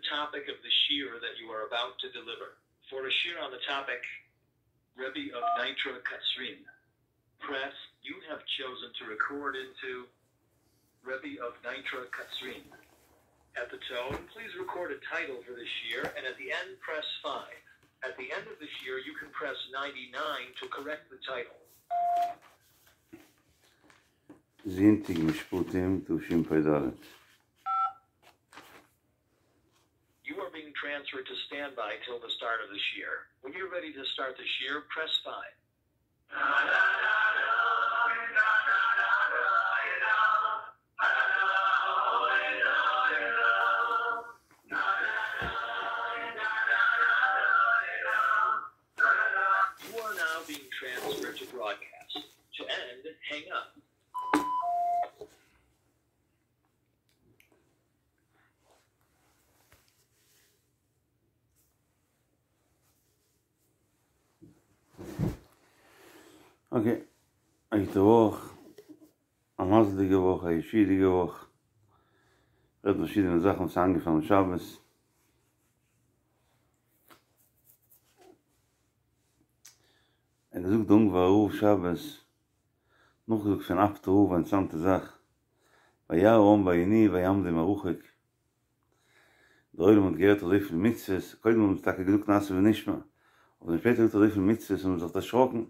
the topic of the shiur that you are about to deliver. For a shiur on the topic, Rebbe of Nitra Katzrin, press you have chosen to record into Rebbe of Nitra Katzrin. At the tone, please record a title for the shiur, and at the end, press 5. At the end of the shiur, you can press 99 to correct the title. זונטאג משפטים תשפ"ד. You are being transferred to standby till the start of the shiur. When you're ready to start the shiur, press 5. You are now being transferred to broadcast. To end, hang up. אקעי, א גוטע וואך, א מזל'דיגע וואך, א ישועה'דיגע וואך, רעדן פארשידענע זאכן וואס איז איינגעפאלן שבת. ער האט געזאגט די אונגווארער רב שבת, נאכגעזאגט פון אפטער רב א אינטערעסאנטע זאך, וירא העם וינועו ויעמדו מרחוק, דער עולם האט געהערט אזויפיל מצוות, קודם האבן זיי טאקע געזאגט נעשה ונשמע, אבער שפעטער געזאגט אזויפיל מצוות האבן זיי זיך דערשראקן,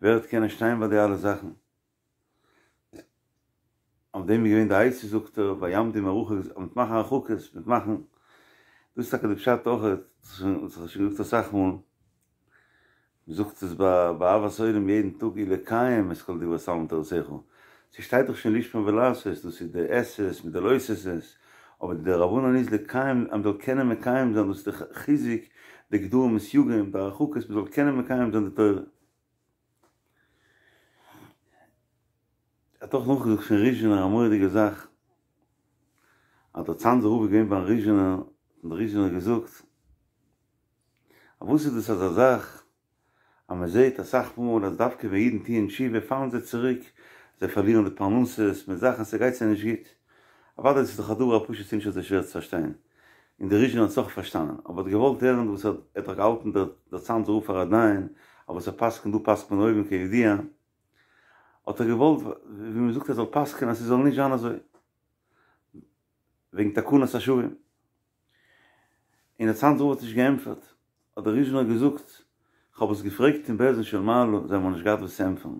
ווער וועט קענען שטיין ביי די אלע זאכן? אויף דעם איז געווען די עצה זאגט ער, ויעמדו מרחוק, מיט מאכן הרחקות, מיט מאכן, דאס איז טאקע די פשט אויך, דאס האב איך שוין געזאגט אסאך מאל, מען זאגט עס ביי אהבת עולם יעדן טאג ולקיים את כל דברי תלמוד תורתך, ס'שטייט דאך שוין לשמור ולעשות, דאס איז די עשה'ס מיט די לא תעשה'ס, אבער די דרבנן איז לקיים, אז מ'זאל קענען מקיים זיין, דאס איז די חיזוק, די גדרים וסייגים, די הרחקות, מ'זאל קענען מקיים זיין די תורה. ער האט אויך נאכגעזאגט פון ריזשינער א מורא'דיגע זאך, אז דער צאנזער רב איז געווען ביים ריזשינער, און דער ריזשינער האט געזאגט, אז וואס איז דאס אזא זאך, אז מען זעט אסאך מאל אז דווקא ווען אידן טוען תשובה פאלן זיי צוריק, זיי פארלירן די פרנסות מיט זאכן, ס'גייט זיי נישט גוט. אוודאי דאס איז דאך א דבר הפשוט ס'נישט אזוי שווער צו פארשטיין, און דער ריזשינער האט עס אויך פארשטאנען, אבער האט געוואלט הערן וואס ער האט דאך געהאלטן דער צאנזער רב פאר א דיין, אז וואס ער פסק'נט דא פסק'נט מען אויבן כידוע, האט ער געוואלט ווי מען זאגט ער זאל פסק'נען אז ס'זאל נישט זיין אזוי, וועגן תקנת השבים. און דער צאנזער רב האט נישט געענטפערט, האט דער ריזשינער געזאגט, כ'האב עס געפרעגט אין בית דין של מעלה, זיי האבן נישט געהאט וואס צו ענטפערן.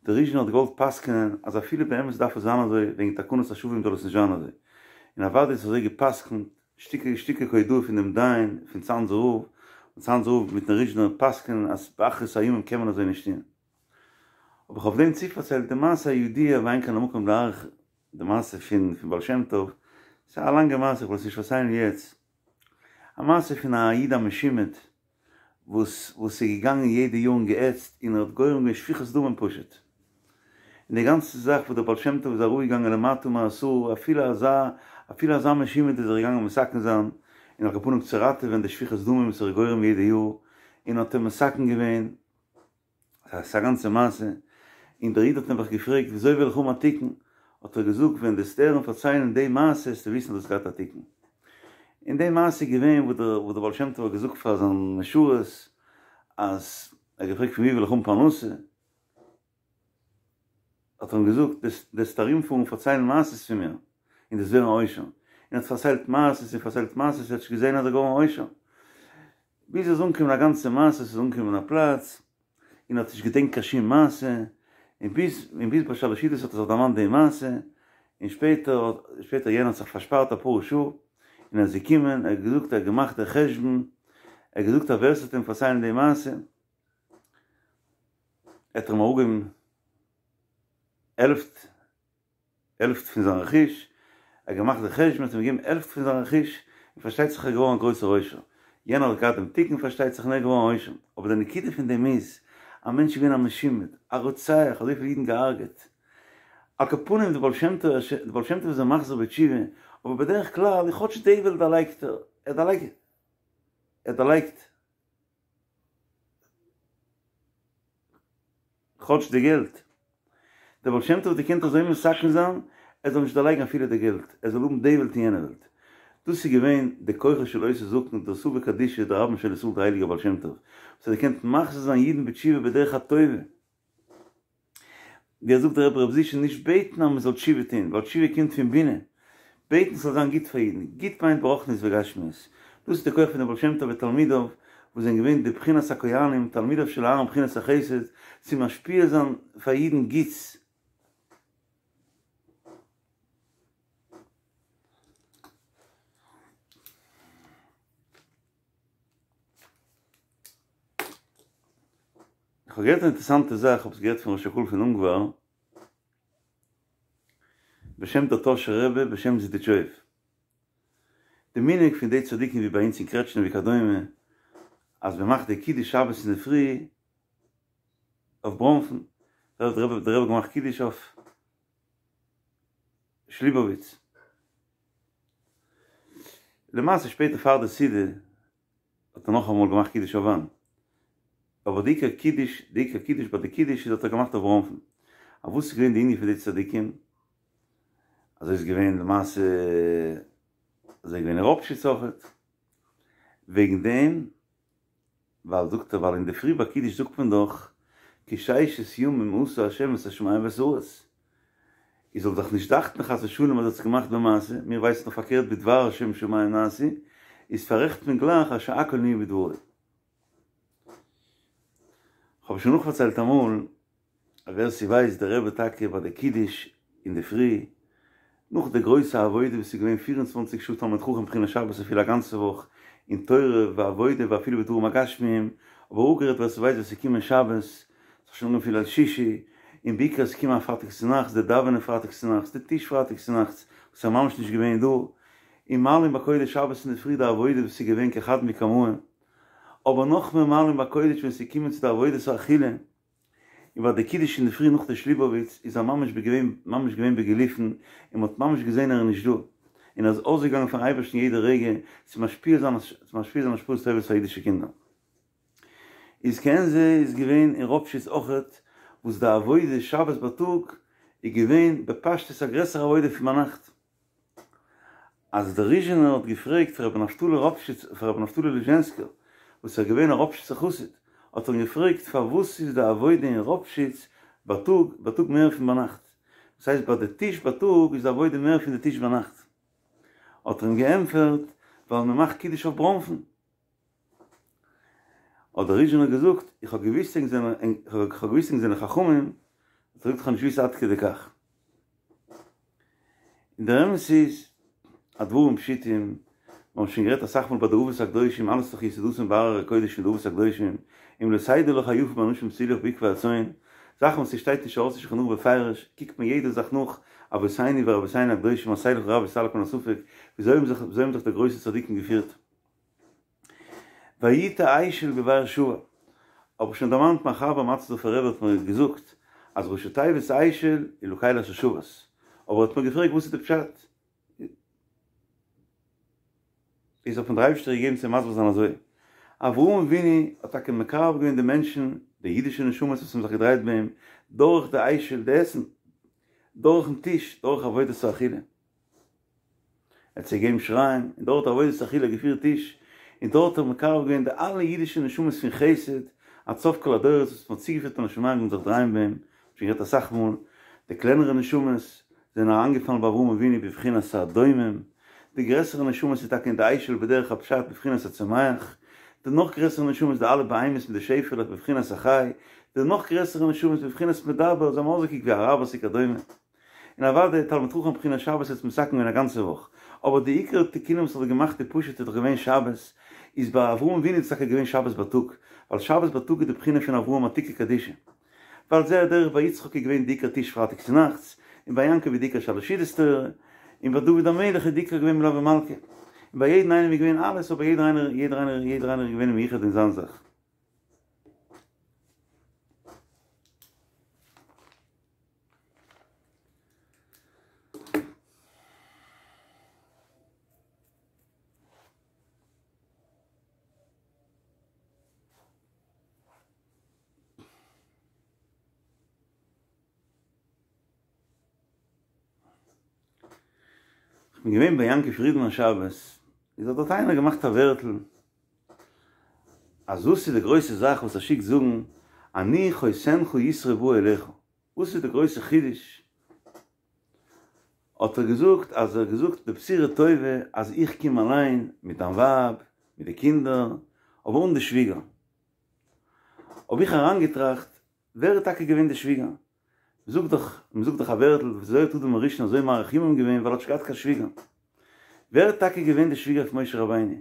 דער ריזשינער האט געוואלט פסק'נען אז אפילו באמת דארף עס זיין אזוי, וועגן תקנת השבים זאל עס נישט זיין אזוי. און אוודאי איז אזוי געפסק'נט, שתיקה שתיקה כהודאה פון דעם דיין פון צאנזער רב, און צאנזער רב מיטן ריזשינער פסק'נען אז באחרית הימים קען מען אזוי נישט טון. האב איך אויף דעם צופארציילט די מעשה הידוע ואין כאן המקום להאריך די מעשה פון פון בעל שם טוב, ס'איז א לאנגע מעשה איך וועל עס נישט פארציילן יעצט, א מעשה פון א איד א משומד וואס וואס איז געגאנגען יעדע יאר און געעצט און ער האט גורם געווען שפיכות דמים פשוט, און די גאנצע זאך וואס דער בעל שם טוב איז אראפגעגאנגען למטה מעשרה אפילו אזא אפילו אזא משומד איז ער געגאנגען מתקן זיין און על כל פנים צו ראטעווען די שפיכות דמים וואס ער איז גורם יעדע יאר און האט אים מתקן געווען. ס'איז א גאנצע מעשה, און דער איד האט נעבעך געפרעגט וויאזוי וועל איך האבן א תיקון, האט ער געזאגט ווען דו וועסט הערן פארציילן די מעשה וועסטו וויסן אז דו האסט געהאט א תיקון. און די מעשה איז געווען וואס דער וואס דער בעל שם טוב האט געזאגט פאר זיין משרת אז ער האט געפרעגט פון ווי וועל איך האבן פרנסה, האט ער אים געזאגט דו וועסט ארומפארן פארציילן מעשות פון מיר און דו וועסט ווערן א עושר, און ער האט פארציילט מעשות און פארציילט מעשות ער האט נישט געזען אז ער איז געווארן א עושר, ביז ער איז אנגעקומען א גאנצע מעשה, עס איז אנגעקומען א פלאץ און ער האט נישט געדענקט קיין שום מעשה, און ביז און ביז ביי שלש סעודות האט ער זיך דערמאנט די מעשה, און שפעטער שפעטער יענער האט זיך פארשפארט אפאר שעה, און ער איז געקומען ער האט געזאגט ער האט געמאכט די חשבון, ער האט געזאגט אז ווער עס וועט אים פארציילן די מעשה, וועט ער אים אראפגעבן העלפט העלפט פון זיין רכוש, ער האט געמאכט די חשבון האט אים געגעבן העלפט פון זיין רכוש, און פארשטייט זיך ער איז געווארן א גרויסער עושר, יענער האט געהאט דעם תיקון פארשטייט זיך און ער איז געווארן א עושר, אבער די נקודה פון דעם איז, א מענטש איז געווען א משומד, א רוצח, אזויפיל אידן געהארגעט, על כל פנים די בעל שם טוב, די בעל שם טוב איז אים מחזיר בתשובה, אבער בדרך כלל כאטש די וועלט דערלייגט ער, ער דערלייגט, ער דערלייגט. כאטש די געלט. דער בעל שם טוב האט געקענט אזוי מתקן זיין, ער זאל נישט דערלייגן אפילו די געלט, ער זאל האבן די וועלט און יענע וועלט. דאס איז געווען די כוחו של אותו זקן, דער סבא קדישא, דער רבן של ישראל דער הייליגער בעל שם טוב, וואס האט געקענט מחזיר זיין אידן בתשובה בדרך הטובה. ווי ער זאגט דער רבי ר' זושא נישט בעטן אז מען זאל תשובה טון, ווייל תשובה קומט פון בינה, בעטן ס'זאל זיין גוט פאר אידן, גוט מיינט ברוחניות וגשמיות, דאס איז די כח פון דעם בעל שם טוב ותלמידיו, וואס זענען געווען די בחינת הכהנים, תלמידיו של אהרן בחינת החסד, צו משפיע זיין פאר אידן גוטס. איך האב געהערט א אינטערעסאנטע זאך, כ'האב עס געהערט פון ראש הקהל פון אונגוואר, בשם דער טאהשער רבי בשם זידיטשויב. די מנהג פון די צדיקים ווי ביי אונז אין קרעטשניף וכדומה, אז מען מאכט די קידוש שבת אינדערפרי אויף בראנפן, דער רבי האט געמאכט קידוש אויף שליבאוויץ. למעשה שפעטער פאר די סעודה האט ער נאכאמאל געמאכט קידוש אויף וויין. אבער די עיקר קידוש, די עיקר קידוש ביי די קידוש איז האט ער געמאכט אויף בראנפן. אבער וואס איז געווען די ענין פון די צדיקים? אזוי איז געווען למעשה, אזוי איז געווען אין ראפשיץ אויכעט. וועגן דעם ווייל זאגט ער ווייל אינדערפרי ביי קידוש זאגט מען דאך כי ששת ימים עשה ה' את השמים ואת הארץ, איז זאל זיך נישט דאכטן חס ושלום אז ער האט עס געמאכט במעשה, מיר ווייסן דאך פארקערט בדבר השם שמים נעשו, איז פאררעכט מען גלייך אז שהכל נהיה בדברו. כ'האב שוין נאכפארציילט אמאל אז ווער ס'ווייסט דער רבי טאקע ביי די קידוש אינדערפרי, נאך די גרויסע עבודה וואס איז געווען פיר און צוואנציג שעה תלמיד חכם בחינת שבת אפילו א גאנצע וואך אין תורה ועבודה ואפילו בדברים הגשמיים, אבער אפגערעדט ווער ס'ווייסט ווען ס'איז געקומען שבת, ס'האט שוין אנגעהויבן פון ליל שישי, און בעיקר עס איז געקומען א פרייטאג צונאכטס, די דאווענען פרייטאג צונאכטס, די טיש פרייטאג צונאכטס, וואס איז ממש נישט געווען דא, און מעלין בקודש שבת אינדערפרי די עבודה וואס איז געווען כחד מקמאי, אבער נאכמער מעלין בקודש ווען ס'איז געקומען צו די עבודת האכילה, און ביי די קידוש אינדערפרי נאך די שליבאוויץ איז ער ממש געווען ממש געווען בגילופין און מ'האט ממש געזען ער איז נישט דא און ער איז אויסגעגאנגען פארן אייבערשטן יעדע רגע צו משפיע זיין צו משפיע זיין השפעות טובות פאר אידישע קינדער. איז כעין זה איז געווען אין ראפשיץ אויכעט וואס די עבודה שבת בייטאג איז געווען בפשטות א גרעסערע עבודה פון ביינאכט. אז דער ריזשינער האט געפרעגט פון רבי נפתלי ראפשיץ פון רבי נפתלי ליזשענסקער וואס איז געווען א ראפשיצער חסיד האט ער אים געפרעגט פארוואס איז די עבודה אין ראפשיץ בייטאג בייטאג מער פון ביינאכט דאס הייסט ביי די טיש בייטאג איז די עבודה מער פון די טיש ביינאכט האט ער אים געענטפערט ווייל מען מאכט קידוש אויף בראנפן האט דער ריזשינער געזאגט איך האב געוויסט ענק זענען איך האב געוויסט ענק זענען חכמים האט ער געזאגט איך האב נישט געוויסט עד כדי כך. און דער אמת איז, הדברים פשוטים, מיר האבן שוין גערעדט אסאך מאל ביי די אבות הקדושים, אלעס איז דאך יסודתן בהררי קודש פון די אבות הקדושים, אם לא תדע לך היפה באנשים תלך בעקבי הצאן, זאכן וואס ס'שטייט נישט ארויס אין שולחן ערוך בפירוש, קוקט מען יעדע זאך נאך, אבותינו ורבותינו הקדושים עשה לך רב וסלק מן הספק, וויאזוי האבן זיך וויאזוי האבן זיך די גרויסע צדיקים געפירט. ויטע אשל בבאר שבע, האב איך שוין דערמאנט מיין חבר מאטערסדארפער רבי האט מיר געזאגט אז ראשי תיבות אשל איז לקל אשר שבת, אבער ער האט מיר געפרעגט וואס איז די פשט, איז האט מיר דער אייבערשטער געגעבן צו מסביר זיין אזוי, אברהם אבינו האט טאקע מקרב געווען די מענטשן, די אידישע נשמות וואס האבן זיך געדרייט ביי אים, דורך די אשל, די עסן, דורכן טיש, דורך עבודת האכילה. ער האט זיי געגעבן שיריים, און דורך עבודת אכילה געפירט טיש, און דארט האט ער מקרב געווען די אלע אידישע נשמות פון חסד עד סוף כל הדורות וואס מ'האט צוגעפירט מן השמים און זיך דרייען ביי אים, שוין גערעדט אסאך מאל, די קלענערע נשמות זענען אריינגעפאלן ביי אברהם אבינו בבחינת הדומם, די גרעסערע נשמות איז טאקע אין די אשל בדרך הפשט בבחינת הצומח, די נאך גרעסערע נשמות די אלע בהמות מיט די שעפעלעך בבחינת החי, די נאך גרעסערע נשמות בבחינת מדבר זיי האבן אויסגעקוקט ווי אראבערס וכדומה. און אוודאי תלמיד חכם בחינת שבת האט מתקן געווען א גאנצע וואך, אבער די עיקר תיקונים וואס האט געמאכט די פשוט איז דאך געווען שבת, איז ביי אברהם אבינו איז טאקע געווען שבת בייטאג, ווייל שבת בייטאג איז די בחינה פון אברהם עתיקא קדישא. ועל זה הדרך ביי יצחק איז געווען די עיקר טיש פרייטאג צונאכטס, און ביי יעקב איז די עיקר שלש סעודות תורה, און ביי דוד המלך איז די עיקר געווען מלוה מלכה. און ביי יעדן איינעם איז געווען אלעס אבער יעדער איינער יעדער איינער יעדער איינער איז געווען מיוחד אין זיין זאך. כ'בין געווען ביי יענקי פרידמאן שבת, איז האט דארט איינער געמאכט א ווערטל, אז וואס איז די גרויסע זאך וואס ער שיקט זאגן אני חותנך יתרו בא אליך, וואס איז די גרויסע חידוש? האט ער געזאגט אז ער האט געזאגט די בשורה טובה אז איך קום אליין מיט דיין ווייב מיט די קינדער אבער אן די שוויגער. האב איך אריינגעטראכט ווער איז טאקע געווען די שוויגער? מ'זאגט דאך מ'זאגט דאך א ווערטל וויאזוי האט אדם הראשון אזוי מאריך ימים געווען ווייל ער האט נישט געהאט קיין שוויגער. ווער איז טאקע געווען די שוויגער פון משה רבינו?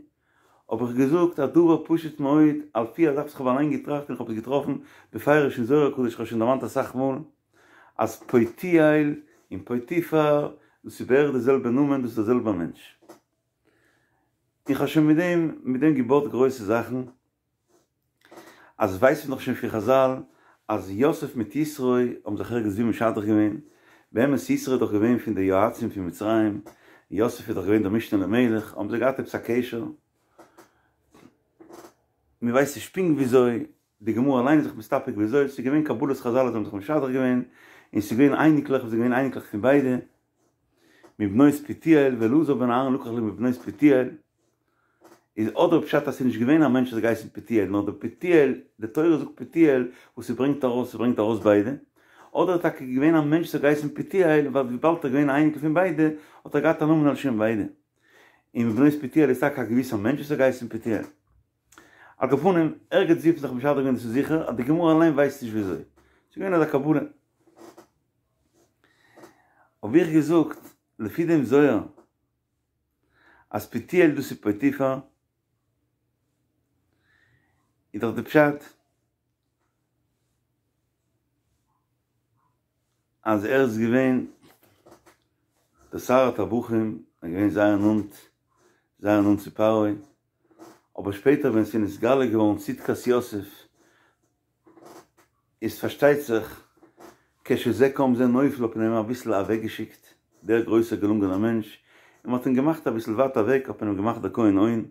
האב איך געזאגט א דבר פשוט מאוד על פי א זאך וואס כ'האב אליין געטראכט און כ'האב עס געטראפן בפירוש אין זוהר הקדוש כ'האב שוין דערמאנט אסאך מאל אז פוטיאל און פוטיפר דאס איז בערך די זעלבע נאמען דאס איז דער זעלבער מענטש און כ'האב שוין מיט דעם מיט דעם געבויט גרויסע זאכן. אז ווייסט מען דאך שוין פון חזל אז יוסף מיט יתרו האבן זיך ערגעץ ווי משדך געווען, באמת יתרו איז דאך געווען פון די יועצים פון מצרים, יוסף איז דאך געווען דער משנה למלך, האבן זיי געהאט עפעס א קשר, מען ווייסט נישט פונקט וויאזוי, די גמרא אליין איז זיך מסתפק וויאזוי, ס'איז געווען קבלת חזל אז זיי האבן זיך משדך געווען, און ס'איז געווען אייניקלעך וואס זענען געווען אייניקלעך פון ביידע, מבנות פוטיאל, ואלעזר בן אהרן לקח לו מבנות פוטיאל. איז אדער פשט אז ס'איז נישט געווען א מענטש וואס האט געהייסן פוטיאל נאר די פוטיאל, די תורה זאגט פוטיאל וואס ס'ברענגט ארויס ס'ברענגט ארויס ביידע, אדער טאקע געווען א מענטש וואס האט געהייסן פוטיאל ווייל וויבאלד ער איז געווען א אייניקל פון ביידע האט ער געהאט א נאמען על שם ביידע. און מבנות פוטיאל איז טאקע א געוויסער מענטש וואס האט געהייסן פוטיאל. על כל פנים, ערגעץ ווי האט מען זיך משדך געווען דאס איז זיכער אז די גמרא אליין ווייסט נישט וויאזוי. ס'איז געווען אזא קבלה. האב איך געזאגט, לפי דעם זוהר, אז פוטיאל דאס איז פוטיפר, איז דאך די פשט אז ער איז געווען דער שר הטבחים, ער איז געווען זייער נאנט, זייער נאנט צו פרעה, אבער שפעטער ווען ס'איז נתגלה געווארן צדקת יוסף, איז פארשטייט זיך כשזה קם זה נופל האט מען אים אביסל אוועקגעשיקט, דער גרויסער געלונגענער מענטש, און מ'האט אים געמאכט אביסל ווייט אוועק האט מען אים געמאכט דער כהן און,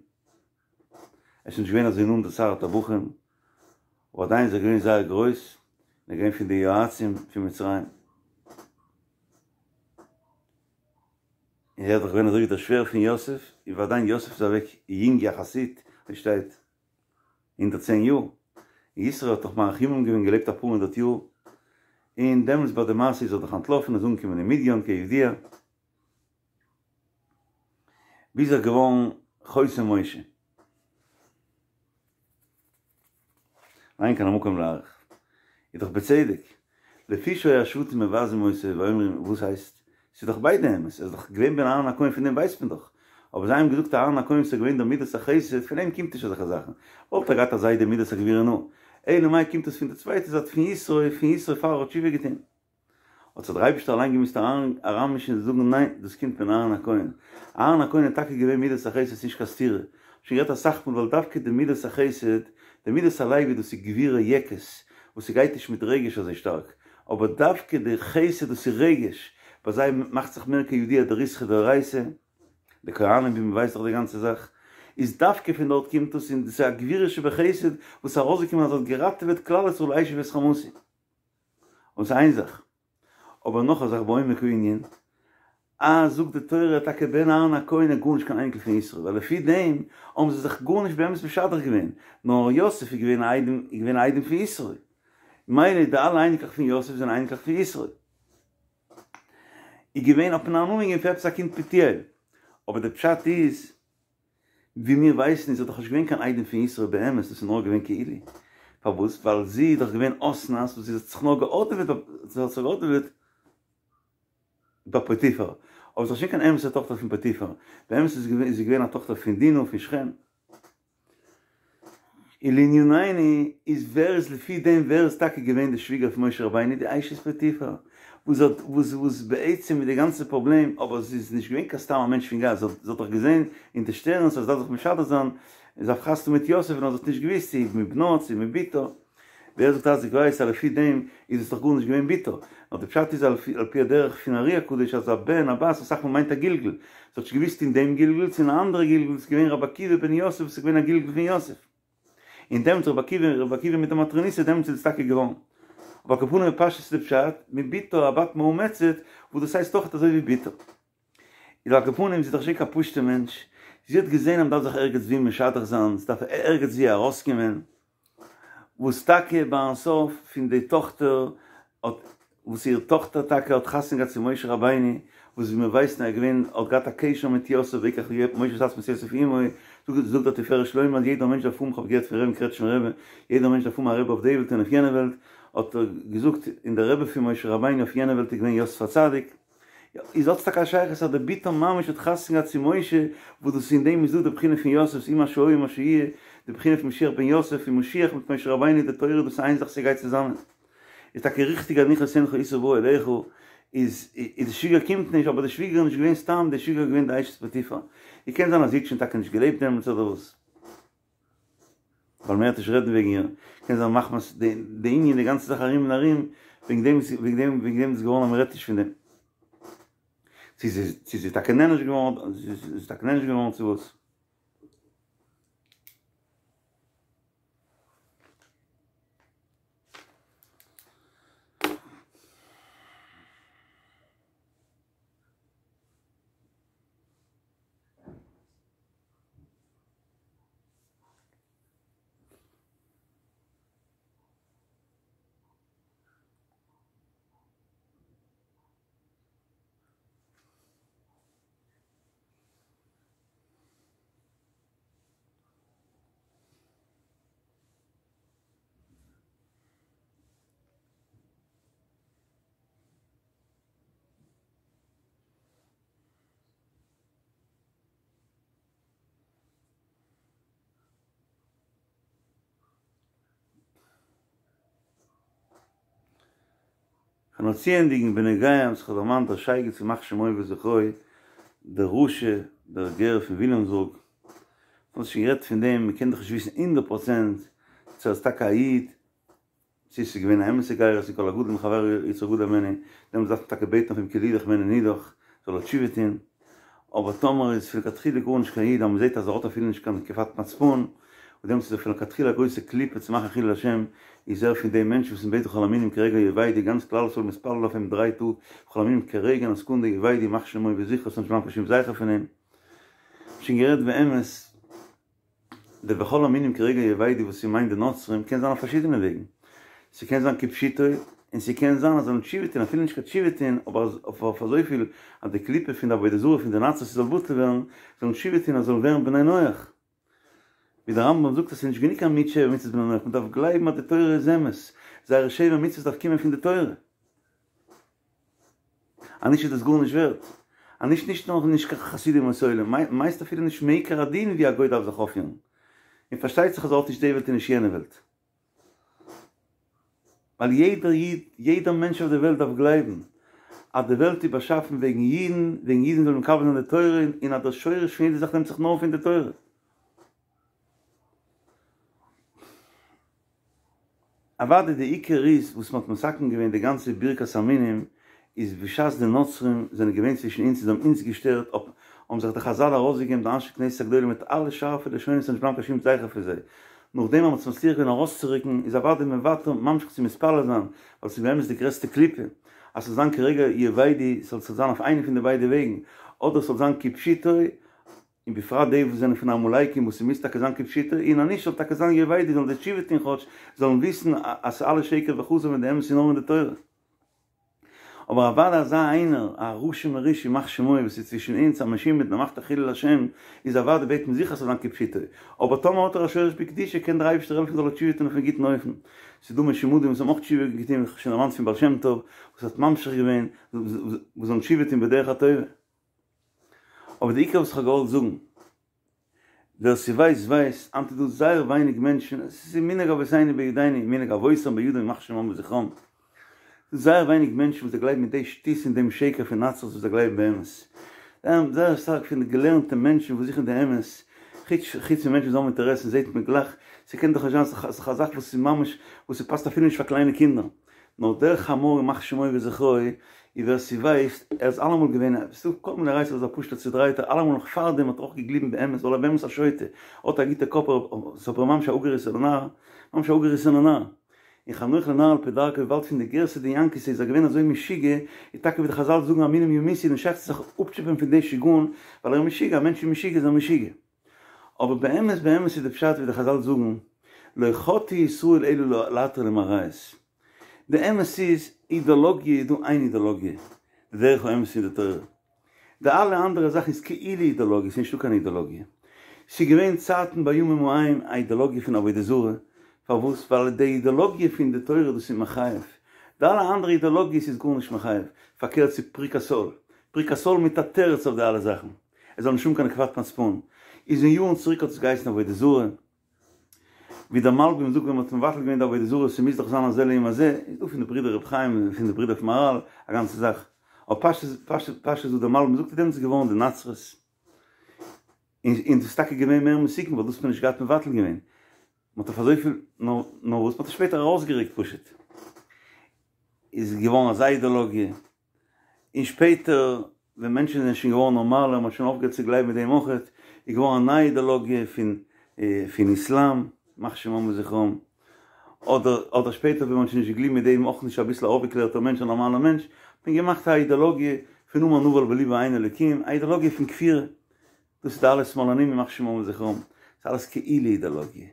ער איז שוין נישט געווען אזוי נאנט דער שר הטבחים, אבער עדיין איז ער געווען זייער גרויס, און ער איז געווען פון די יועצים פון מצרים. און ער איז דאך געווען אזוי ווי דער שווער פון יוסף, און ועדיין יוסף איז אוועק יונג יחסית, ווי שטייט, 110 יאר, און יתרו האט דאך מאריך ימים געווען געלעבט אפאר הונדערט יאר, און דעמאלטס ביי די מעשה איז ער דאך אנטלאפן איז אנגעקומען אין מדין כידוע, ביז ער איז געווארן חותן משה. ואין כאן המקום להאריך. איז דאך בצדק, לפי שהיו השבטים מבזים אותו ואומרים וואס הייסט? ס'איז דאך ביידע אמת, ער איז דאך געווען בן אהרן הכהן פון דעם ווייסט מען דאך, אבער זיי האבן געזאגט אהרן הכהן וואס איז געווען דער מידת החסד פון אים קומט נישט אזעלכע זאכן, וואלט ער געהאט א זיידע מידת הגבורה נו, אלא מאי קומט עס פון די צווייטע זייט פון יתרו, פון יתרו פאר ער האט תשובה געטון. האט זיך דער אייבערשטער אליין געמוזט אריינמישן און זאגן ניין דאס קומט פון אהרן הכהן, אהרן הכהן איז טאקע געווען מידת החסד ס'נישט קיין סתירה, שוין גערעדט אסאך מאל ווייל דווקא די מידת החסד, די מידת הלוי דאס איז גבורה יעקעס וואס ס'גייט נישט מיט רגש אזוי שטארק, אבער דווקא די חסד דאס איז רגש, ביי זיי מאכט זיך מער כידוע די ריתחא דאורייתא, די כהנים ווי מ'ווייסט דאך די גאנצע זאך, איז דווקא פון דארט קומט עס און דאס איז א גבורה שבחסד וואס איז ארויסגעקומען אז ער האט געראטעוועט כלל ישראל אשי ואת חמתי. און ס'איז איין זאך. אבער נאך א זאך בעומק הענין, אז זאגט די תורה טאקע בן אהרן הכהן איז גארנישט קיין אייניקל פון יתרו, ווייל לפי דעם האבן זיי זיך גארנישט באמת משדך געווען, נאר יוסף איז געווען א איידעם איז געווען א איידעם פון יתרו, מילא די אלע אייניקלעך פון יוסף זענען אייניקלעך פון יתרו. איז געווען האט מען א נאמען געגעבן פאר עפעס א קינד פוטיאל, אבער די פשט איז, ווי מיר ווייסן איז ער דאך נישט געווען קיין איידעם פון יתרו באמת, דאס איז נאר געווען כאילו. פארוואס? ווייל זי איז דאך געווען אסנת וואס זי האט זיך נאר געהאדעוועט זי האט זיך געהאדעוועט ביי פוטיפר. אבער זי איז דאך נישט קיין אמת'ע טאכטער פון פוטיפר. באמת איז זי געווען א טאכטער פון דינה פון שכם. און לענינינו איז ווער איז לפי דעם ווער איז טאקע געווען די שוויגער פון משה רבינו די אשת פוטיפר וואס האט וואס וואס בעצם איז די גאנצע פראבלעם אבער זי איז נישט געווען קיין סתם א מענטש פון גאס זי האט זי האט דאך געזען אין די שטערנס אז זי דארף זיך משדך זיין זי דארף חתונה מיט יוסף נאר זי האט נישט געוויסט צו מבנה צו מבתה ווער זאגט אז איך ווייס אז לפי דעם איז עס דאך גארנישט געווען בתו, נאר די פשט איז על פי הדרך פון ארי הקדוש אז א בן א בת אסאך מאל מיינט א גלגול, זי האט נישט געוויסט אין דעם גלגול צו אין א אנדערע גלגול איז געווען רבי עקיבא בן יוסף וואס איז געווען א גלגול פון יוסף, און דעמאלטס רבי עקיבא רבי עקיבא מיט די מטרוניתא דעמאלטס איז עס טאקע געווארן. אבער על כל פנים בפשטות איז די פשט מבתו א בת מאומצת וואס דאס הייסט אויך אזוי ווי בתו. איז על כל פנים זי איז דאך נישט קיין פשוטע מענטש, זי האט געזען אז מ'דארף זיך ערגעץ ווי משדך זיין, ס'דארף ערגעץ ווי ארויסקומען, וואס טאקע ביים סוף פון די טאכטער האט, וואס איר טאכטער טאקע האט חתונה געהאט צו משה רבינו, וואס ווי מיר ווייסן ער איז געווען האט געהאט א קשר מיט יוסף ויקח משה את עצמות יוסף עמו, זאגט דער תפארת שלמה אז יעדער מענטש דארף האבן, כ'האב געהערט פון רבי'ן קרעטשניפער רבי, יעדער מענטש דארף האבן א רבי אויף די וועלט און אויף יענע וועלט, האט ער געזאגט, און דער רבי פון משה רבינו אויף יענע וועלט איז געווען יוסף הצדיק. איז האט עס טאקע א שייכות אז די בתו ממש האט חתונה געהאט צו משה, וואס דאס אין דעם איז דא די בחינה פון יוסף ס'איז מה שהיה מה שיהיה, די בחינה פון משיח בן יוסף און משיח מיט משה רבינו די תורה דאס איז איין זאך ס'גייט צוזאמען. איז טאקע ריכטיג אז הניח את יונך עשו בא אליך, איז איז די שוויגער קומט נישט, אבער די שוויגער איז נישט געווען סתם, די שוויגער איז געווען די אשת פוטיפר. און קען זיין אז זי האט שוין טאקע נישט געלעבט דעמאלטס אדער וואס. ווייל מען וועט נישט רעדן וועגן איר, קען זיין מחמת די די ענין די גאנצע זאך ארום און ארום, וועגן דעם איז וועגן דעם וועגן דעם איז געווארן אז מען רעדט נישט פון דעם. צו זי צו זי איז טאקע נענש געווארן, זי איז טאקע נענש געווארן צו וואס. כ'וועל נאר צוענדיגן בנוגע וואס כ'האב דערמאנט דער שייגעץ ימח שמו וזכרו דער רשע דער גר פון וויליאמסבורג, מ'האט שוין גערעדט פון דעם, מ'קען דאך נישט וויסן הונדערט פראצענט צו ער איז טאקע א איד, צו ס'איז געווען א אמת'ע גירות און כל הגדול מחבירו יצרו גדול הימנו, דעמאלטס דארף מען טאקע בעטן אויף אים כי לידך הימנו נידח, זאל ער תשובה טון, אבער טאמער איז פון לכתחילה גארנישט קיין איד אז מ'זעט אז ער האט אפילו נישט קיין נקיפת מצפון, און דעמאלטס איז ער פון לכתחילה א גרויסע קליפה צו מאכן חילול השם, איז ער פון די מענטשן וואס מ'בעט וכל המינים כרגע יאבדו, גאנץ כלל ישראל מתפלל אויף אים דריי טאג, וכל המינים כרגע אין א סעקונדע יאבדו, ימח שמו וזכרו ס'זאל נישט בלייבן קיין שום זכר פון אים. שוין גערעדט באמת. די וכל המינים כרגע יאבדו וואס ס'מיינט די נוצרים קען זיין אויף פארשידענע וועגן. ס'קען זיין כפשוטו, און ס'קען זיין אז זיי זאלן תשובה טון, אפילו נישט קיין תשובה טון, אבער אויף אזויפיל אז די קליפה פון די עבודה זרה פון די נצרות זאל בטל ווערן, זאלן תשובה טון אז זאלן ווערן בני נח. ווי דער רמב"ם זאגט אז ס'איז נישט גענוג קיין מיעוט שבע מצוות בני נח, מ'דארף גלייבן אז די תורה איז אמת, זייערע שבע מצוות דארף קומען פון די תורה. אז נישט איז דאס גארנישט ווערט. אז נישט נישט נאר נישט קיין חסידים אומות העולם, מיינסט אפילו נישט מעיקר הדין ווי א גוי דארף זיך אויפפירן. און פארשטייט זיך אז ער האט נישט די וועלט און נישט יענע וועלט. ווייל יעדער איד, יעדער מענטש אויף די וועלט דארף גלייבן אז די וועלט איז באשאפן וועגן אידן, וועגן אידן זאלן מקבל זיין די תורה, און אז דער שורש פון יעדע זאך נעמט זיך נאר פון די תורה. אוודאי די עיקר איז וואס מ'האט מתקן געווען די גאנצע ברכת המינים איז בשעת די נוצרים זענען געווען צווישן אונז און זיי האבן אונז געשטערט האבן זיך די חזל ארויסגעגעבן די אנשי כנסת הגדולה מיט אלע שארפע לשונות ס'זאל נישט בלייבן קיין שום זכר פון זיי נאכדעם אז מ'האט עס מצליח געווען ארויסצורוקן איז אוודאי מען ווייטער ממשיך צו מתפלל זיין ווייל ס'איז באמת די גרעסטע קליפה אז ס'זאל זיין כרגע יאבדו ס'זאל זיין אויף איינע פון די ביידע וועגן אדער ס'זאל זיין כפשוטו און בפרט די וואס זענען פון עמלקים וואס ס'מוז טאקע זיין כפשוטו, און אז נישט זאל טאקע זיין יאבדו זאלן זיי תשובה טון כאטש, זאלן וויסן אז ס'איז אלעס שקר וכזב און די אמת איז נאר אין די תורה. אבער אוודאי אזא איינער, א רשע מרושע ימח שמו וואס איז צווישן אונז א משומד און מאכט א חילול השם, איז אוודאי בעט מען זיכער ס'זאל זיין כפשוטו, אבער טאמער האט ער א שורש בקדושה קען דער אייבערשטער העלפן זאל ער תשובה טון אויפן גוטן אופן. ס'איז דא משומדים וואס האבן אויך תשובה געטון, ווי כ'האב שוין דערמאנט פון בעל שם טוב וואס האט ממשיך געווען, וואס זאלן תשובה טון בדרך הטובה. אבער די עיקר וואס כ'האב געוואלט זאגן, ווער ס'ווייסט ווייסט, היינט איז דא זייער ווייניג מענטשן, עס איז מנהג אבותינו בידינו, מנהג אבותם בידם ימח שמם וזכרם, ס'איז זייער ווייניג מענטשן וואס זיי גלייבן אין די שטות און דעם שקר פון נצרות וואס זיי גלייבן באמת. זייער שטארק פון די געלערנטע מענטשן וואס זוכן די אמת, חוץ חוץ פון מענטשן וואס האבן אינטערעסן זעט מען גלייך, ס'קען דאך נישט זיין ס'איז דאך א זאך וואס איז ממש וואס ס'פאסט אפילו נישט פאר קליינע קינדער. נאר דער חמור ימח שמו וזכרו, און ווער ס'ווייסט, ער איז אלעמאל געווען א, ס'דא כל מיני רייסער איז א פשוט'ער צודרייטער, אלעמאל נאך פארדעם האט ער אויך געגליבן באמת, ווייל ער באמת א שוטה, האט א גוטע קאפ, ס'איז אבער ממש א אפגעריסענער נאר, ממש א אפגעריסענער נאר. און חנוך לנער על פי דרכו וויבאלד פון די גירסא דינקותא איז ער געווען אזוי משוגע, איז טאקע ווי די חזל זאגן המינים ימותו נישט שייך צו זיך אפטשעפען פון די שיגעון ווייל ער איז משוגע, א מענטש איז משוגע איז ער משוגע. אבער באמת באמת איז די פשט ווי די חזל זאגן לא חטאו ישראל אלא להתיר להם עריות. די אמת איז, אידאלאגיע איז דא איין אידאלאגיע, די דרך האמת פון די תורה. די אלע אנדערע זאכן איז כאילו אידאלאגיע, ס'איז נישטא קיין אידאלאגיע. ס'איז געווען צייטן בימים ההם א אידאלאגיע פון עבודה זרה, פארוואס? ווייל די אידאלאגיע פון די תורה דאס איז מחייב, די אלע אנדערע אידאלאגיעס איז גארנישט מחייב, פארקערט ס'איז פריקת עול, פריקת עול מיט א תירוץ אויף די אלע זאכן, עס זאל נישט האבן קיין נקבת מצפון, איז אין יארן צוריק האט עס געהייסן עבודה זרה, ווי דער מלבים זאגט ווען מ'האט מבטל געווען די עבודה זרה ס'מוז דאך זיין הזה לעומת זה, איז דא פון די ברידער רבי חיים און פון די ברידער פון מהרל א גאנצע זאך, אבער פשטות פשטות פשטות וואס דער מלבים זאגט איז דעמאלטס געווארן די נצרות, און און דאס איז טאקע געווען מער מסוכן ווייל דאס האט מען נישט געהאט מבטל געווען, מ'האט אויף אזויפיל נאר נאר וואס מ'האט עס שפעטער ארויסגערוקט פשוט איז געווארן אזא אידאלאגיע. און שפעטער ווען מענטשן זענען שוין געווארן נארמאלער, מ'האט שוין אויפגעהערט צו גלייבן מיט דעם אויכעט, איז געווארן א נייע אידעלאגיע פון פון איסלאם, ימח שמם וזכרם, אדער אדער שפעטער ווען מ'האט שוין נישט געגליבן מיט דעם אויך נישט אביסל א אויפגעקלערטער מענטש א נארמאלער מענטש, האט מען געמאכט א אידעלאגיע פון אמר נבל בלבו אין אלוקים, א אידעלאגיע פון כפירה. דאס איז די אלע שמאלנים ימח שמם וזכרם, ס'איז אלעס כאילו אידעלאגיע.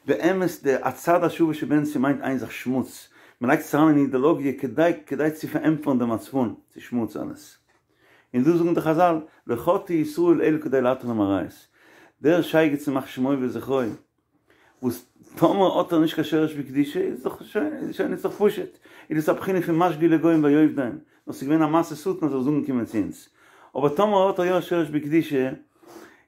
באמת די הצד השוה שבהן ס'מיינט איין זאך שמוץ, מ'לייגט עס אריין אין אידעלאגיע כדי כדי צו פארענטפערן דעם מצפון, ס'איז שמוץ אלעס. און דא זאגן די חזל, לא חטאו ישראל אלא כדי להתיר להם עריות. דער שייגעץ ימח שמו וזכרו, וואס טאמער האט ער נישט קיין שורש בקדושה איז דאך שוין שוין איז דאך פשוט, איז דאס א בחינה פון משגוי לגוים ויאבדם, נאר ס'איז געווען א מעשה שטן אז ער איז אנגעקומען צו אונז, אבער טאמער האט ער יא שורש בקדושה,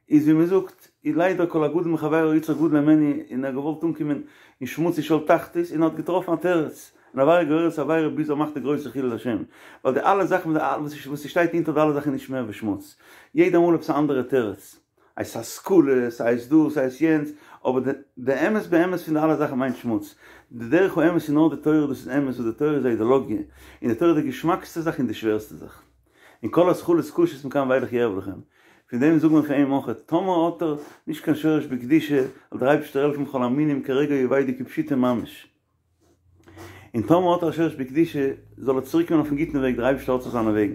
איז ווי מ'זאגט, איז ליידער כל הגדול מחבירו יצרו גדול הימנו, און ער האט געוואלט אנקומען אין שמוץ אין שאול תחתית, און ער האט געטראפן א תירוץ, און עבירה גוררת עבירה ביז ער מאכט די גרויסע חילול השם, ווייל די אלע זאכן וואס ס'שטייט אונטער די אלע זאכן איז נישט מער ווי שמוץ, יעדע מאל עפעס א אנדערע תירוץ. הייסט השכלה, ס'הייסט דאס, ס'הייסט יענץ, אבער די אמת באמת פון די אלע זאכן מיינט שמוץ. די דרך האמת איז נאר די תורה, דאס איז אמת, וואס די תורה איז א אידעלאגיע, און די תורה איז די געשמאקסטע זאך און די שווערסטע זאך. און כל התחלות קשות מכאן ואילך יערב לכם. פון דעם זאגן מיר פאר אים אויך, טאמער האט ער נישט קיין שורש בקדושה, זאל דער אייבערשטער העלפן כל המינים כרגע יאבדו כפשוטו ממש. און טאמער האט ער א שורש בקדושה, זאל ער צוריק קומען אויפן גוטן וועג, דער אייבערשטער האט זיך זיינע וועגן.